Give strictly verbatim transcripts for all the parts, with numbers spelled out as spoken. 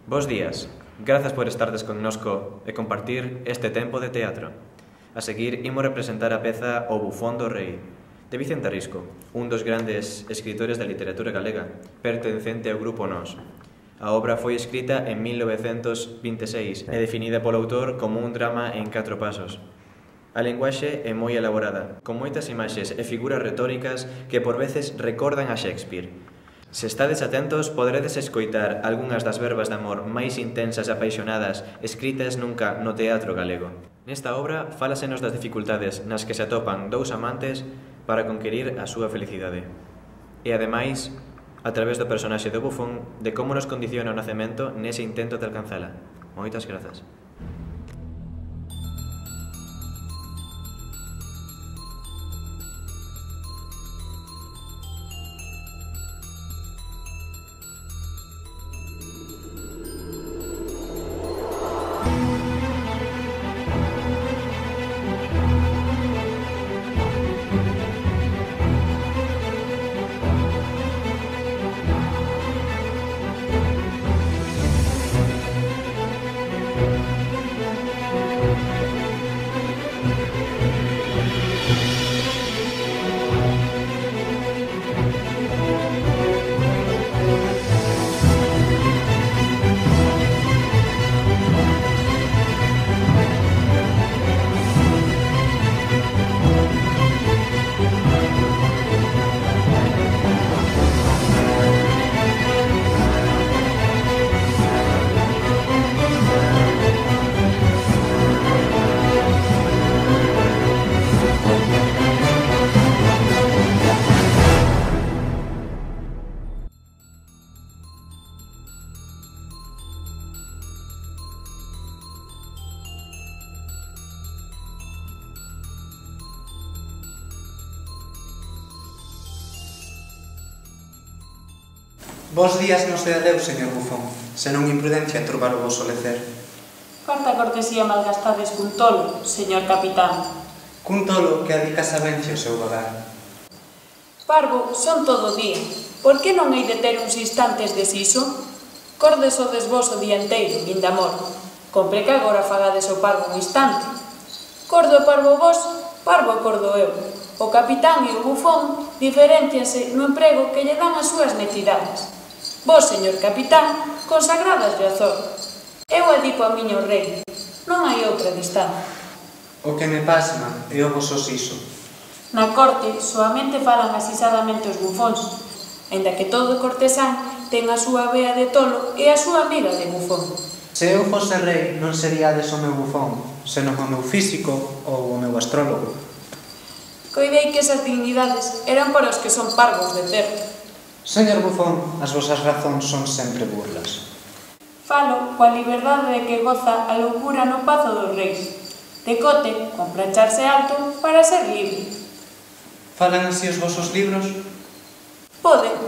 Bos días, grazas por estardes connosco e compartir este tempo de teatro. A seguir, imos representar a peza O bufón do rei, de Vicente Risco, un dos grandes escritores da literatura galega, pertencente ao grupo Nós. A obra foi escrita en mil novecentos vinte e seis e definida polo autor como un drama en catro pasos. A linguaxe é moi elaborada, con moitas imaxes e figuras retóricas que por veces recordan a Shakespeare. Se estades atentos, poderedes escoitar algunhas das verbas de amor máis intensas e apaixonadas escritas nunca no teatro galego. Nesta obra, fálasenos das dificultades nas que se atopan dous amantes para conquerir a súa felicidade. E, ademais, a través do personaxe do bufón, de como nos condiciona o nacemento nese intento de alcanzala. Moitas grazas. Bos días non se adeus, señor bufón, senón imprudencia turbar o voso lecer. Carta cortesía malgastades cun tolo, señor capitán. Cun tolo que adica sabencia o seu vagar. Parvo son todo o día, por que non hei de ter uns instantes de siso? Cordes o desvos o día enteiro, linda amor. Compre que agora fagades o parvo un instante. Cordo e parvo vos, parvo e cordo eu. O capitán e o bufón diferencianse no emprego que lle dan as súas necesidades. Vos, señor capitán, consagradas de azor. Eu adico a miña o rei. Non hai outra distancia. O que me pasma é o voso siso. Na corte soamente falan asisadamente os bufóns, aínda que todo cortesán ten a súa vea de tolo e a súa amiga de bufón. Se eu fose rei, non seríades o meu bufón, senón o meu físico ou o meu astrólogo. Coidei que esas dignidades eran para os que son parvos de certo. Señor bufón, as vosas razóns son sempre burlas. Falo coa liberdade de que goza a loucura no pazo dos reis. Decote, con plancharse alto, para ser libre. Falan así os vosos libros? Poden.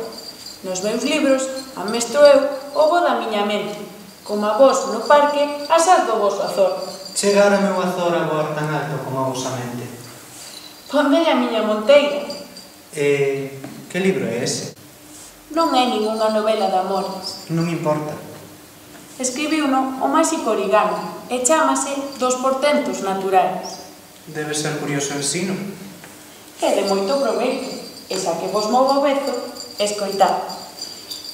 Nos meus libros amestro eu o bo da miña mente. Como a vos no parque, asas do voso azor. Chegar o meu azor a voar tan alto como a vosa mente. Ponde a miña monteira. E... que libro é ese? Non é ningunha novela de amores. Non me importa. Escribiuno o máxico Origami e chámase Dos portentos naturais. Debe ser curioso ensino. É de moito proveito, e xa que vos movo o bezo, escoitad.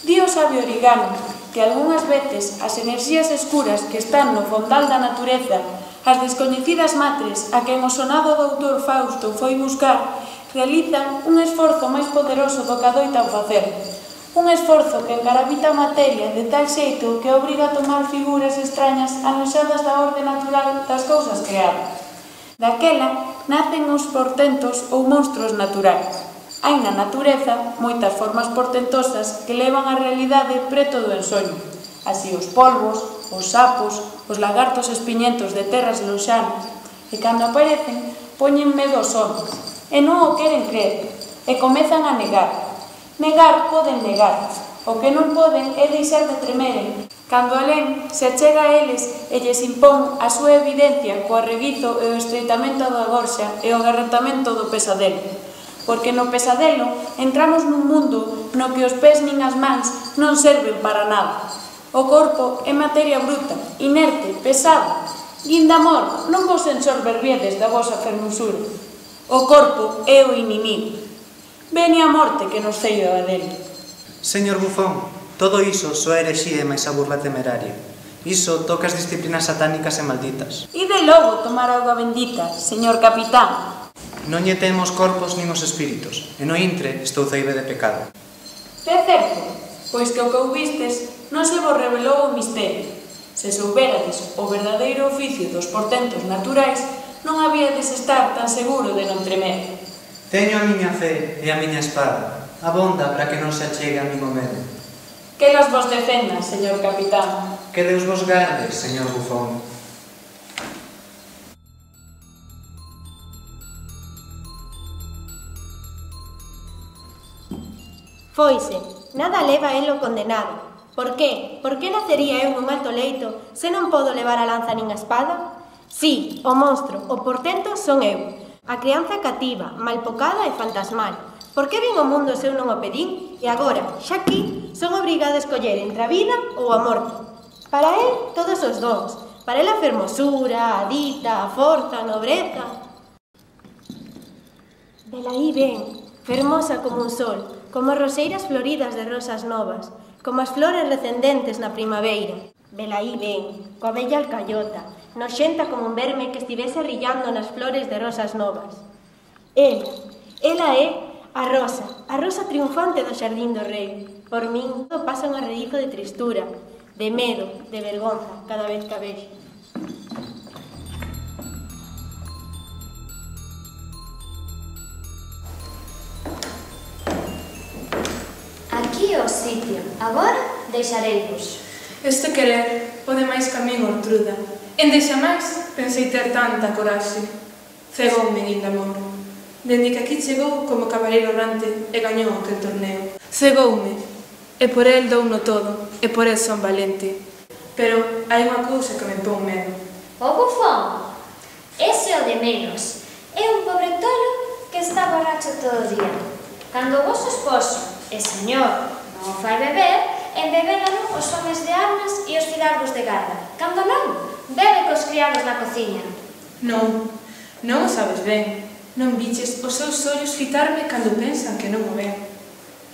Dio sabe Origami que algunhas veces as enerxías escuras que están no fondal da natureza, as descoñecidas matres a quen o sonado doutor Fausto foi buscar, realizan un esforzo máis poderoso do que adoitan facer. Un esforzo que encarabita a materia de tal xeito que obriga a tomar figuras extrañas anoxadas da orde natural das cousas creadas. Daquela nacen os portentos ou monstruos naturais. Hai na natureza moitas formas portentosas que levan a realidade preto do ensoño. Así os polvos, os sapos, os lagartos espiñentos de terras lonxanas, e cando aparecen poñen medo aos homens, e non o queren crer, e comezan a negar. Negar poden negar, o que non poden é deixar de tremeren, cando alén se chega a eles e lles impón a súa evidencia co arreguizo e o estreitamento da gorxa e o agarratamento do pesadelo. Porque no pesadelo entramos nun mundo no que os pés nin as mans non serven para nada. O corpo é materia bruta, inerte, pesada. Guindamor, non vos ensorberbiedes da vosa fermosura. O corpo é o inimigo. Vene a morte que nos ceiba dele. Señor Bufón, todo iso só herexía e máis a burla temeraria. Iso toca as disciplinas satánicas e malditas. E de logo tomar auga bendita, señor capitán. Non lle temos corpos nin os espíritus, e no intre estou ceibe de pecado. É certo, pois que o que ouvistes non se vos revelou o misterio. Se souberades o verdadeiro oficio dos portentos naturais, non habíades estar tan seguro de non tremer. Teño a miña fe e a miña espada. Abonda para que non se achegue a min o medo. Que las vos defendan, señor capitán. Que Deus vos garde, señor Bufón. Foise, nada leva a elo condenado. Por que? Por que nacería eu nun alto leito se non podo levar a lanza nin a espada? Sí, o monstro, o portento son eu. A crianza cativa, malpocada e fantasmal. Por que vin o mundo se eu non o pedín? E agora, xa aquí, son obrigada a escoller entre a vida ou a morte. Para el, todos os dons. Para el a fermosura, a dita, a forza, a nobreza. Velaí ven, fermosa como un sol, como as roseiras floridas de rosas novas, como as flores recendentes na primavera. Velaí ven, coa bella alcayota, noxenta como un verme que estivese rillando nas flores de rosas novas. Ela, ela é a rosa, a rosa triunfante do xardín do rei. Por min, pasa un arreizo de tristura, de medo, de vergonza, cada vez que a vexo. Aquí o sitio. Agora deixareivos. Este querer pode máis que a min Ortruda. Ende xa máis pensei ter tanta coraxe. Cegoume Guindamor. Dende que aquí chegou como cabaleiro errante e gañou aquel torneo. Cegoume, e por el douno todo, e por el son valente. Pero hai unha cousa que me pon medo. O Bufón. Ese o de menos. É un pobre tolo que está borracho todo o día. Cando o vosso esposo e señor non o fai beber, embebélano os homes de armas e os fidalgos de garda. Cando non, bebe cos criados na cociña. Non, non o sabes ben. Non viches os seus ollos fitarme cando pensan que non o ven.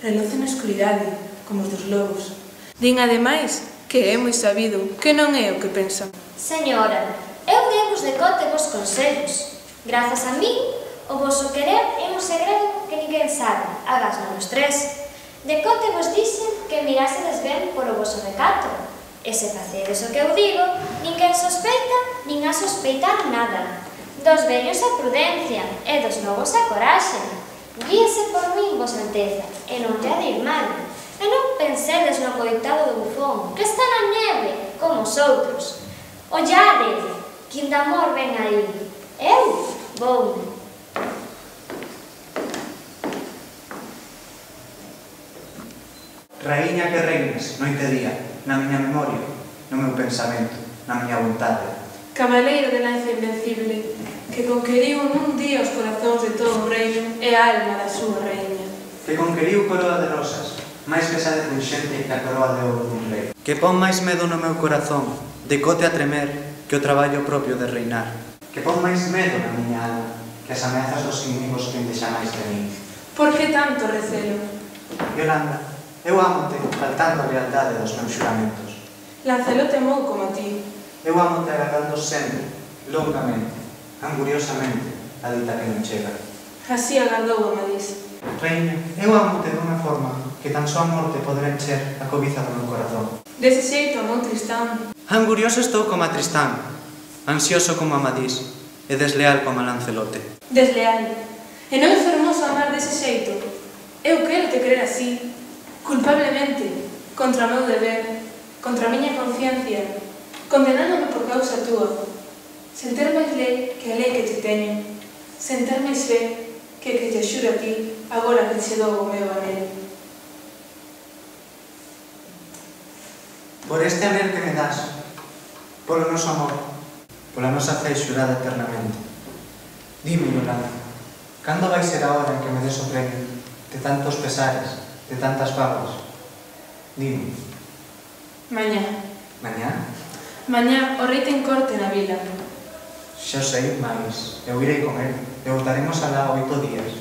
Relocen na escuridade, como os dos lobos. Din ademais que é moi sabido, que non é o que pensan. Señora, eu demos de conte vos consellos. Grazas a min, o voso querer é un segredo que ninguén sabe, agas non os tres. De conte vos dixen que mirásedes ben polo voso recato. E se facedes o que eu digo, ninguén sospeita, nin a sospeitar nada. Dos vellos a prudencia, e dos novos a coraxe. Guíese por min, vos alteza, e non lle dir mal. E non pensedes no coitado do Bufón, que está na neve, como os outros. Ollade, Guindamor ven aí. Eu voume. Raíña que reinas, noite e día, na miña memoria, no meu pensamento, na miña vontade. Cabaleiro de lanza invencible, que conqueriu nun día os corazóns de todo o reino e a alma da súa reina. Que conqueriu coroa de rosas, máis pesada e punxente que a coroa de ouro dun rei. Que pon máis medo no meu corazón, decote a tremer, que o traballo propio de reinar. Que pon máis medo na miña alma, que as ameazas dos inimigos que endexa máis de mí. Por que tanto recelo? Yolanda, eu amo-te, faltando a lealdade dos meus xuramentos. Lancelot temou como a ti. Eu amo-te agardando sempre, longamente, anguriosamente, a dita que non chega. Así agardou Amadís. Reina, eu amo-te dunha forma que tan só a morte poderá encher a cobiza do meu corazón. Dese xeito amou Tristán. Angurioso estou como a Tristán, ansioso como Amadís, e desleal como a Lancelote. Desleal. E non é fermoso amar dese xeito. Eu quero te querer así, culpablemente, contra o meu deber, contra a miña conciencia, condenándome por causa túa, sen ter máis lei que a lei que te teño, sen ter máis fe que que te xuro a ti, agora que che dou o meu anel. Por este anel que me das, polo noso amor, pola nosa fe xurada eternamente. Dime, Yolanda, cando vai ser a hora en que me des o premio de tantos pesares, de tantas babas? Dime. Mañá. Mañá? Mañá o rei ten corte na vila. Xa sei, mais eu irei con el. E voltaremos alá oito días.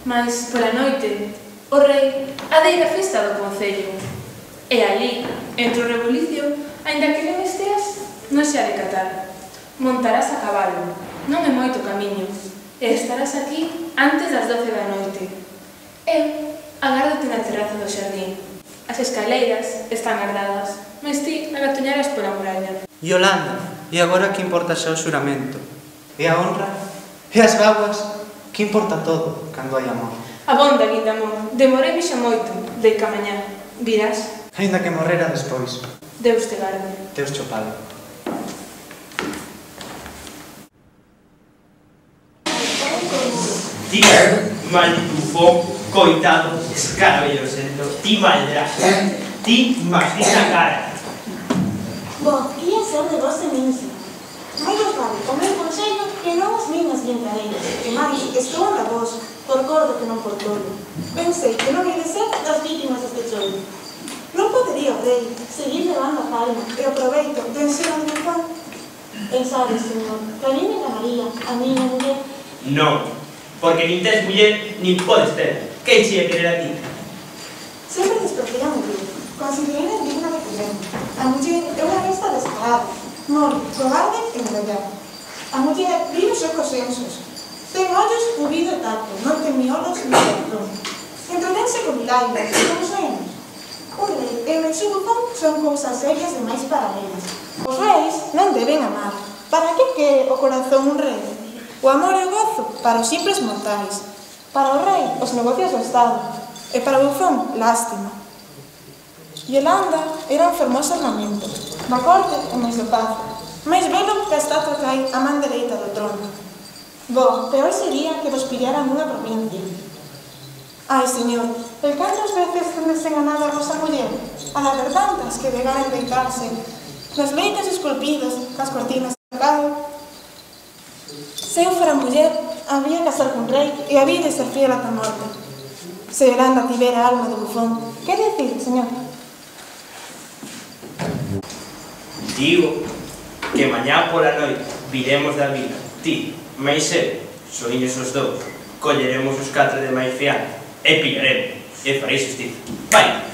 Mais, pola noite, o rei adeira a festa do concello. E ali, entre o rebulicio, aínda que non esteas, non se ha de catar. Montarás a cabalo, non é moito camiño, e estarás aquí antes das doce da noite. Eu agárdote na terraza do xardín. As escaleiras están gardadas, mas ti agatoñarás pola muralla. Yolanda, e agora que importa xa o xuramento? E a honra? E as báguas? Que importa todo cando hai amor? Abonda, Guindamón, demorei xa moito, dei ca mañá. Virás? Ainda que morrera despois. Deus te garde. Deus cho pague. Ti, maldito bufón, coitado, escarabellosento, ti maldrás, ti maldita cara. Bo, ia ser de vos de minse. Mais vos vale o meu consello que non as minas guintareiras, que máis estou anda vos, por cordo que non por tolo. Pensei que non ia de ser das vítimas deste chollo. Non podería o rei seguir levando a palma e o proveito de ensino de Juan. Pensades, señor, que a mí me ganaría a miña muller. Non, porque nin tes muller, nin podes ter. Que che ia querer a ti? Sempre despreciei a muller. Considerei digna de querer. A muller é unha besta descarada, mole, cobarde e medallada. A muller vive só cos sensos. Ten ollos, ouvido e tacto, non ten miolos ni corazón. Entretense con milagres, como soemos. O rei e o meu bufón son cousas serias demais paralelas. Os reis non deben amar. Para que quere o corazón un rei? O amor e o gozo para os simples mortais. Para o rei, os negocios do Estado. E para o bufón, lástima. Yolanda era un fermoso ornamento, da corte e máis do pazo, máis velo que a estatua que hai a man dereita do trono. Bo, peor sería que vos pillaran unha provincia. Ai, señor, el cantas veces tendes enganado a vosa muller, a haber tantas que vegaren deitarse, nos leitos esculpidos, cas cortinas de pecado. Se eu fora muller, había casar cun rei e había de ser fiel ata a morte. Se Yolanda tivera alma de bufón, que decir, señor? Digo que mañá pola noite viremos da vila, ti, máis eu, soiños os dous, colleremos os catro de máis fianza e pillaremos, e farei xustiza. Vai!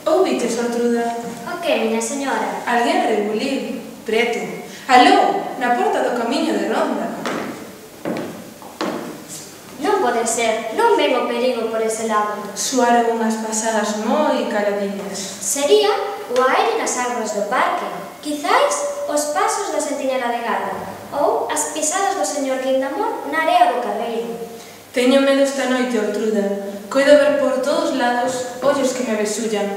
Ouvites, Ortruda? O que, miña señora? Alguén rebulir, preto. Aló, na porta do camiño de Ronda. Non pode ser, non ven o perigo por ese lado. Soaron unhas pasadas moi caladiñas. Sería o aire nas árbores do parque, quizais os pasos da sentinela de garda, ou as pisadas do señor Guindamón na area do carreiro. Teño medo esta noite, Ortruda. Coido ver por todos lados ollos que me besullan.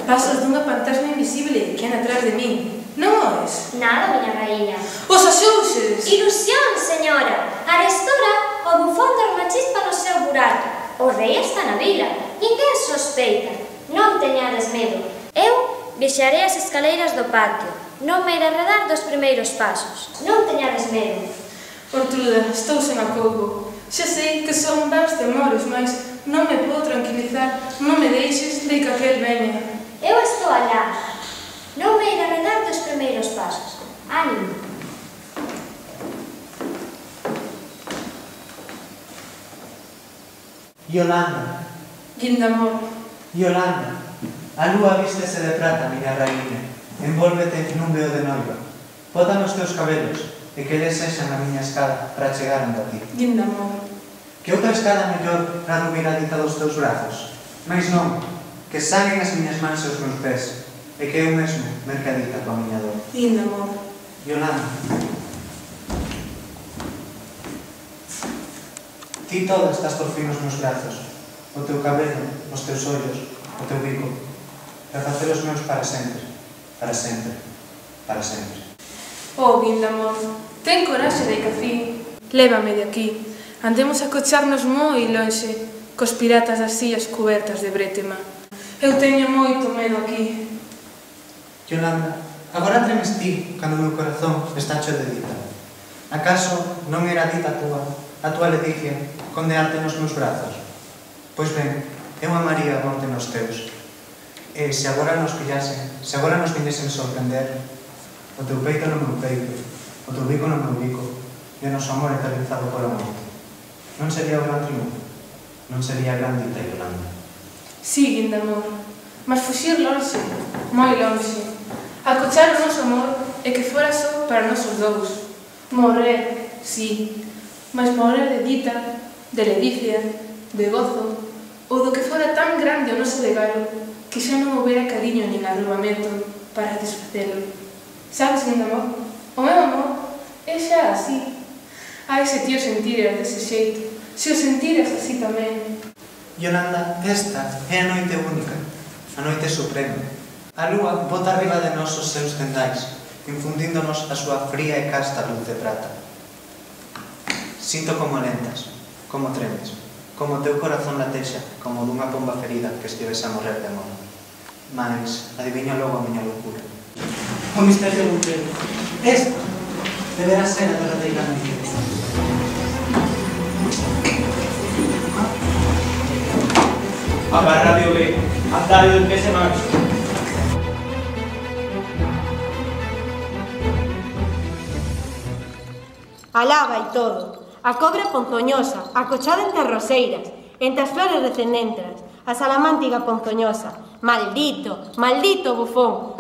Pasos dunha fantasma invisible que anda atrás de min. Non oes? Nada, miña raíña. Os axouxes! Ilusión, señora. Arestora, o bufón dorme chispa no seu burato. O rei está na vila. Ninguén sospeita. Non teñades medo. Eu vixarei as escaleiras do patio. Non me iré redar dos primeiros pasos. Non teñades medo. Ortruda, estou sen acougo. Xa sei que son vans temores, mas non me podo tranquilizar. Non me deixes de que aquel veña. Eu estou alá. Non me iré redar dos primeiros pasos. Ánimo. Yolanda, Guindamón. Yolanda, a lúa vístese de prata, miña raíña, envólvete nun veo de noiva. Bota nos teus cabelos e que eles sexan a miña escada para chegar anda ti. Guindamón. Que outra escada mellor na rubiradita dos teus brazos, mais non, que sanguen as miñas mans e os meus pés, e que eu mesmo mercadita coa miña dor. Guindamón. Yolanda, ti toda estás por fin nos meus brazos, o teu cabelo, os teus ollos, o teu bico, para facer os meus para sempre, para sempre, para sempre. Oh, Guindamón, ten coraxe de cafí. Lévame de aquí. Andemos a cocharnos moi lonxe cos piratas das illas cubertas de brétema. Eu teño moito medo aquí. Yolanda, agora tremes ti cando o meu corazón está cheo de dita. Acaso non era dita a túa, a túa ledicia, condearte nos meus brazos? Pois ben, eu amaría a morte nos teus. E se agora nos pillasen, se agora nos viñesen sorprender, o teu peito no meu peito, o teu bico no meu bico, e o noso amor eternizado pola morte. Non sería o gran triunfo, non sería a gran dita, Yolanda. Sí, Guindamor, mas fuxir lonxe, moi lonxe. Acochar o noso amor e que fora só para nosos dous. Morrer, sí, mas morrer de dita, de ledicia, de gozo, ou do que fora tan grande o noso regalo que xa non houbera cariño nin arrobamento para desfacelo. Sabes, Guindamor, o meu amor é xa así. Ai, se ti o sentiras dese xeito, se o sentiras así tamén. Yolanda, esta é a noite única, a noite suprema. A lúa bota arriba de nós os seus tendais, infundíndonos a súa fría e casta luz de prata. Sinto como lentas, como tremes, como o teu corazón latexa, como dunha pomba ferida que estivese a morrer de amor. Mas adivinha logo a miña loucura. O misterio do emprego. Esta deberá ser a verdadeira noite. A Radio B, a radio del P S Max. Alá vai todo. A cobra ponzoñosa, acochada entre as roseiras, entre as flores recendentras, a salamántiga ponzoñosa. Maldito, maldito bufón.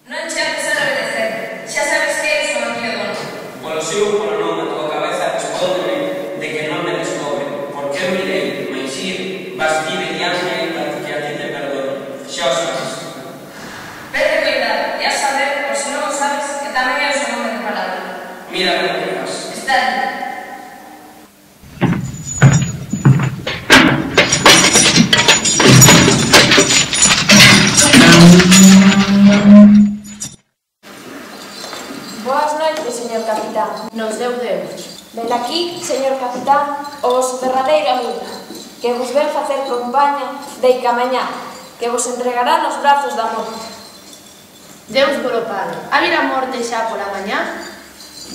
Non cheques a obedecer. Xa sabes que eres o meu dono. Polo sigo polo non, a tua cabeza respóndeme de que non me descobre. Porque eu mirei, mais ir, vas ti mediante para que a ti te perdono. Xa o sabes. Vete cuidado, e a saber, por se non o sabes, que tamén é o seu nome de palabra. Mira como te vas. Está ali. Boas noites, señor capitán. Nos deu Deus. Ven aquí, señor capitán, o vosso derradeiro amigo, que vos ven facer compaña de Icamañá, que vos entregará nos brazos da morte. Deus polo Padre. A vir a morte xa pola mañá?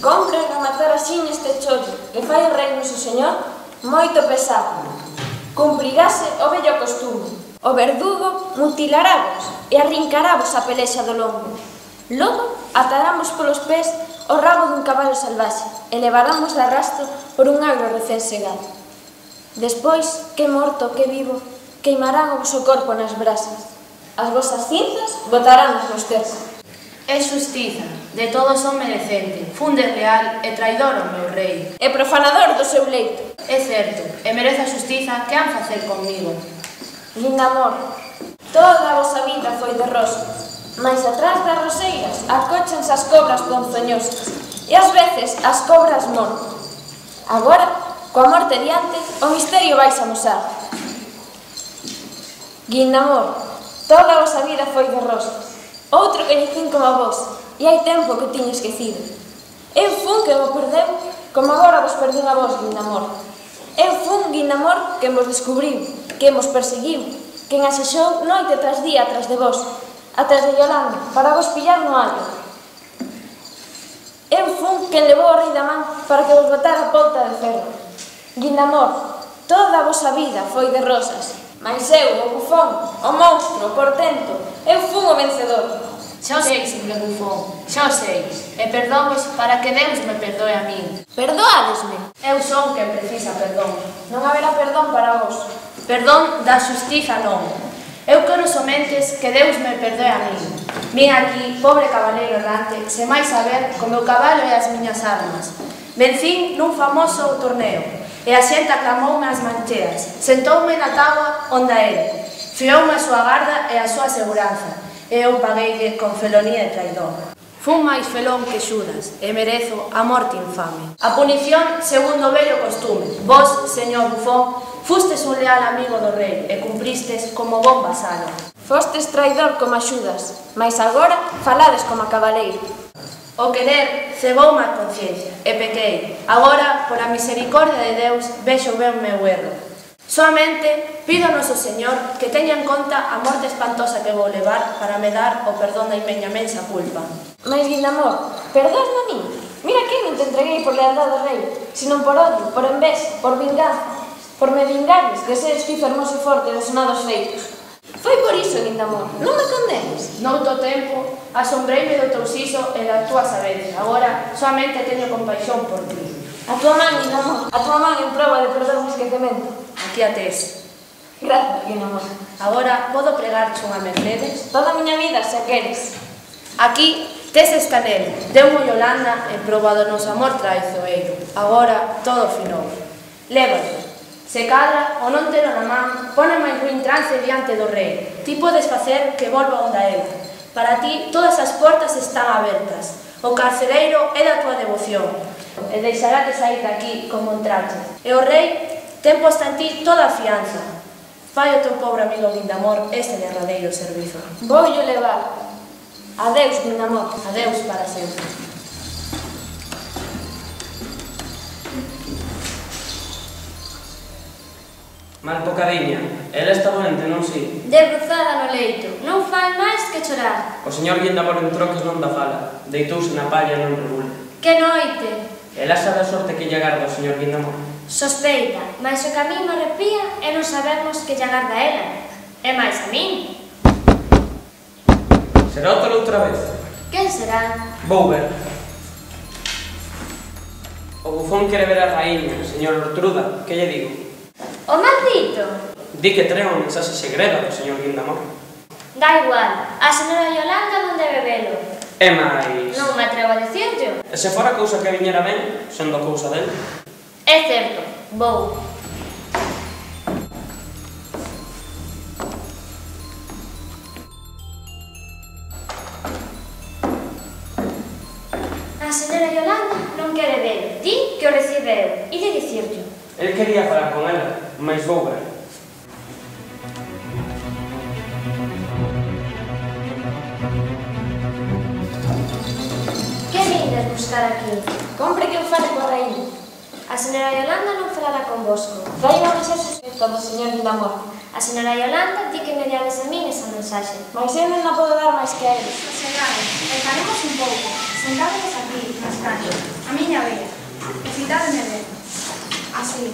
Compre rematar así neste chollo, que fai rei noso señor moito pesado. Cumprirase o vello costume. O verdugo mutilarávos e arrincarávos a pelexa do lombo. Logo ataramos polos pés o rabo dun cabalo salvaxe e levaramos de arrasto por un agro recén segado. Despois, que morto, que vivo, queimarán o vosso corpo nas brasas. As vosas cinzas botarános nos tercos. É xustiza, de todo son merecente, funde real e traidor o meu rei. E profanador do seu leito. É certo, e merece a xustiza que han facer comigo. Guindamor, toda a vosa vida foi de rosas, mais atrás das roseiras acóchanse as cobras ponzoñosas e ás veces as cobras mortas. Agora, coa morte diante, o misterio vais amosar. Guindamor, toda a vosa vida foi de rosas. Outro coñecín como a vos, e hai tempo que o tiño esquecido. Eu fun que vos perdeu, como agora vos perdeu a vos, Guindamor. Eu fun, Guindamor, que vos descubriu, que vos perseguiu, que asexou noite tras día atrás de vos, atrás de Yolanda, para vos pillar no allo. Eu fun quen levou o rei da man para que vos botara a polta de ferro. Guindamor, toda a vosa vida foi de rosas, mas eu, o bufón, o monstro, o portento, eu fun o vencedor. Xa o sei, señor bufón, xa o sei, e perdóvos para que Deus me perdoe a min. Perdoádesme. Eu son quen precisa perdón. Non haberá perdón para vos. Perdón da xustiza non. Eu quero somentes que Deus me perdoe a min. Vin aquí, pobre cabaleiro errante, se máis saber co meu cabalo e as miñas armas. Vencín nun famoso torneo, e a xente aclamoume as mancheas. Sentoume na táboa onde ele. Fioume a súa garda e a súa seguranza, e eu pagueille con felonía e traidor. Fun máis felón que Xudas, e merezo a morte infame. A punición segundo o vello costume. Vos, señor bufón, fustes un leal amigo do rei, e cumpristes como bon vasalo. Fostes traidor como a Xudas, mas agora falades como a cabaleiro. O querer cegoume a conciencia, e pequei. Agora, pola misericordia de Deus, vexo ben o meu erro. Soamente pido ao noso Señor que teña en conta a morte espantosa que vou levar para me dar o perdón da miña mensa culpa. Mais, Guindamor, perdósme a min. Mira que non te entreguei por lealdade do rei, senón por odio, por envexa, por vinganza, por me vingares de seres ti fermoso e forte dos sonados feitos. Foi por iso, Guindamor, non me condenes. Nouto tempo, asombreime do teu siso e da túa sabencia. Agora, soamente teño compaixón por ti. A tua man, Guindamor, a tua man en prova de perdón e esquecemento. Aquí a tes. Grazas, Guindamor. Agora, podo pregarche unha mercedes? Toda a miña vida, se queres. Aquí tes esta nel, deu-mo Yolanda en proba do noso amor traizoeiro. Agora, todo finou. Lévalo. Se cadra, o non telo na man, pone máis ruín trance diante do rei. Ti podes facer que volva onda ela. Para ti, todas as portas están abertas. O carcereiro é da tua devoción, e deixará de sair daqui como entraches. E o rei ten posta en ti toda a fianza. Fai o teu pobre amigo Guindamor este derradeiro servizo. Vou yo levar. Adeus, Guindamor. Adeus para sempre. Mal pocadiña, ela está doente, non si? Debruzada no leito, non fai máis que chorar. O señor Guindamor entrou que non dá fala, deitouse na palla non regula. Que noite! Ela sabe a sorte que lle agarda o señor Guindamor. Sospeita, mas o que a min me arrepía é non sabermos que lle agarda ela. E máis a min. Será outra outra vez? Quen será? Vou ver. O bufón quere ver a raíña, señor Ortruda, que lle digo? O maldito! Di que trae unha mensaxe segreda do señor Guindamor. Da igual, a señora Yolanda non debe velo. E máis... Non me atrevo a dicirlo. E se fora cousa que viñera ben, sendo cousa dele? É certo, vou. A señora Yolanda non quere velo. Di que o recibe eu. E de dicirlo. El quería falar con ela, mas vou ver. Que vindes buscar aquí? Compre que eu fale coa raíña. A señora Yolanda non falará convosco. Fai unha mensaxe escrita do señor Guindamor. A señora Yolanda di que me diades a min esa mensaxe. Mas eu non a podo dar máis que a eles. Sosegade, e faremos un pouco. Sentádenos aquí, nas calles, a miña vea. E citádeme ben. Así.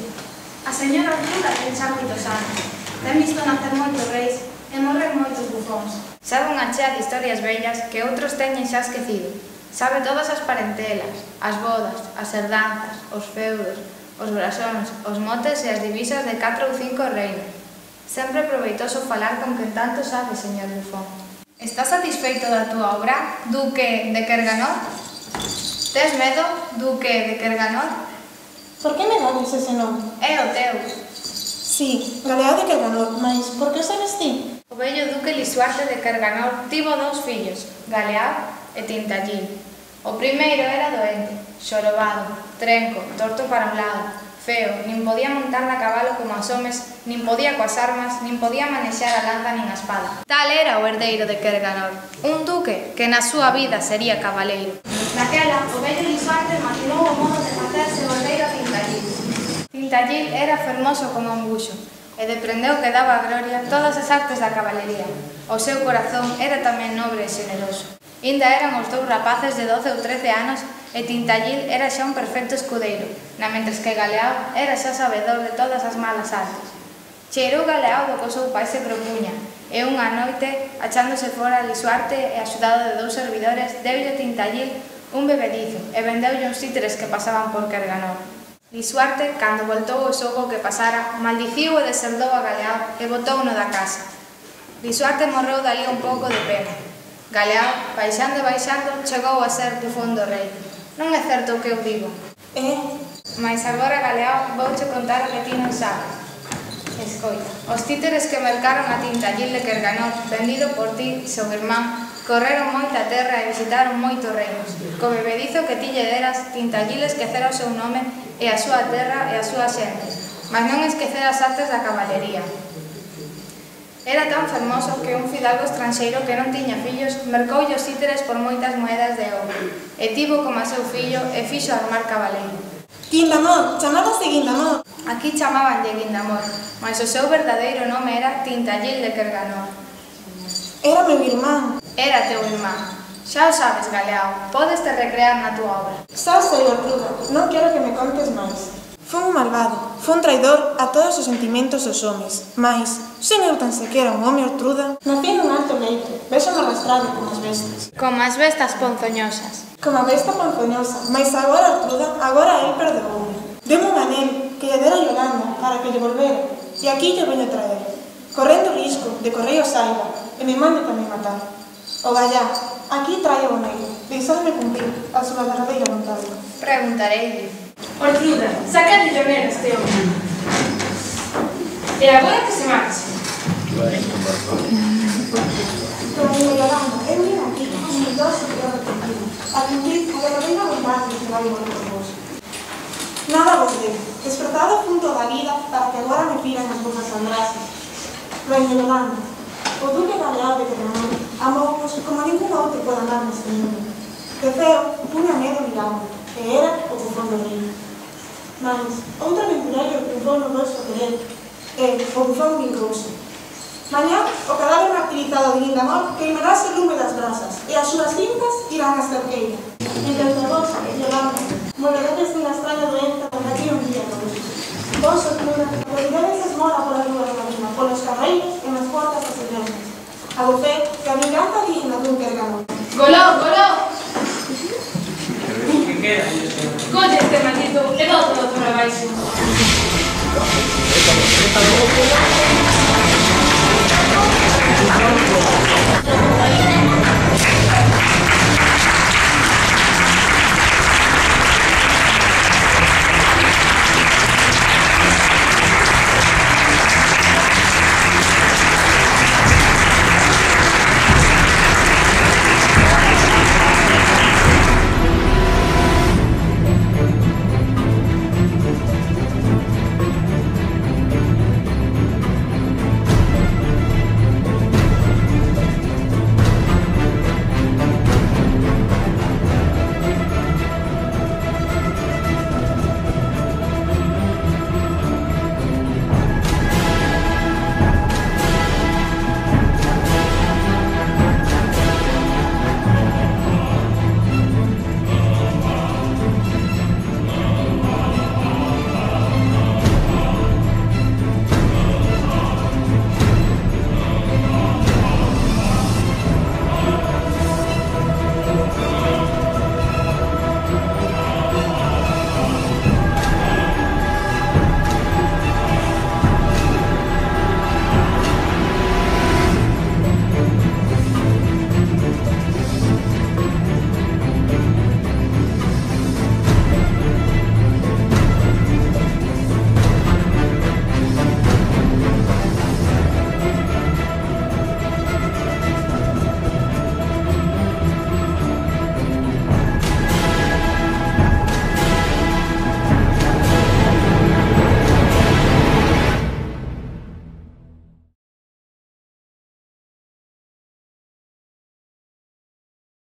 A señora Ortruda ten xa moitos anos. Ten visto nacer moitos reis e morrer moitos bufóns. Sabe unha chea de historias bellas que outros teñen xa esquecido. Sabe todas as parentelas, as bodas, as herdanzas, os feudos, os brasóns, os motes e as divisas de catro ou cinco reinos. Sempre proveitoso falar con quen tanto sabe, señor bufón. Estás satisfeito da túa obra, Duque de Kerganor? Tes medo, Duque de Kerganor? Por que me dades ese nome? É o teu. Sí, Galeao de Kerganor, mas por que sabes ti? O vello Duque Lisuarte de Kerganor tivo dous fillos, Galeao e Tintallil. O primeiro era doente, xorobado, trenco, torto para un lado, feo, nin podía montar na cabalo como as homes, nin podía coas armas, nin podía manexar a lanza nin a espada. Tal era o herdeiro de Kerganor, un duque que na súa vida sería cabaleiro. Naquela, o vello Lisuarte maquinou o modo de facerse o herdeiro a Tintallil. Tintallil era fermoso como un buxo, e deprendeu que daba a gloria todas as artes da cabalería. O seu corazón era tamén nobre e xeneroso. Inda eran os dous rapaces de doce ou trece anos e Tintallil era xa un perfecto escudeiro, na mentres que Galeao era xa sabedor de todas as malas artes. Cheirou Galeao do que o seu pai se propuña, e unha noite, achándose fora Lisuarte e axudado de dous servidores, deulle Tintallil un bebedizo e vendeulle uns títeres que pasaban por Kerganor. Lisuarte, cando voltou o xogo que pasara, maldiciu e deserdou a Galeao e botouno da casa. Lisuarte morreu dali un pouco de pena. Galeao, baixando e baixando, chegou a ser bufón do rei. Non é certo o que eu digo. É? Mais agora, Galeao, vouche contar o que ti non sabes. Escoita, os títeres que mercaron a Tintallil de Kerganor, vendido por ti, seu irmán, correron moita terra e visitaron moitos reinos. Co bebedizo que ti lle deras, Tintallil esquecera o seu nome e a súa terra e a súa xente, mas non esquecera as artes da cabalería. Era tan fermoso que un fidalgo estranxeiro que non tiña fillos mercoulle os títeres por moitas moedas de ouro e tivo como a seu fillo e fixo armar cabaleiro. Guindamor, chamábase Guindamor. Aquí chamabanlle Guindamor, mas o seu verdadeiro nome era Tintallil de Kerganor. Era meu irmán. Era teu irmán. Xa o sabes, Galeao, podes te recrear na túa obra. Xa sei, Ortruda, non quero que me contes máis. Fun un malvado, fun un traidor a todos os sentimentos dos homes, mais, sen eu tan sequera un home, Ortruda, nací nun alto leito, vexo-me arrastrado como as bestas. Como as bestas ponzoñosas. Como a besta ponzoñosa, mas agora, Ortruda, agora el perdooume. Deme un anel que lle dera a Yolanda para que lle volvera, e aquí lle veño traer, correndo o risco de correo saiba, e me mande tamén matar. O gallá, aquí trae o negro, deixadme cumprir a súa verdadeira vontade. Preguntareille. Ortruda, saca de llover este hombre. E agora que se marche. Doña Yolanda, eu vim aquí, humildosa e arrepentida, a cumprir a verdadeira vontade que vai volver por vos. Nada vos debo, despertado junto da vida para que agora me piran as vosas andrasas. Doña Yolanda, o duque Galeao de Kerganor amou-vos como ningún outro pode andar neste mundo. De feo, punha medo mirando, e era o bufón do rei. Mas, outro aventureiro triunfou no vosso querer, e o bufón vingouse. Mañá, o cadáver martirizado de Guindamor queimarase o lume das brasas, e as súas cintas irán a cerqueira. Entre vos, Yolanda, morreredes dunha extraña doenza que aquí un día con vos. Vos, Ortruda, moriredes esmola pola lúa de marina, polos carreiros e nas portas das iglesias. A bufé que a vinganza digna dun Kerganor. Goló, goló! Colle este maldito e boto do por abaixo. Thank you.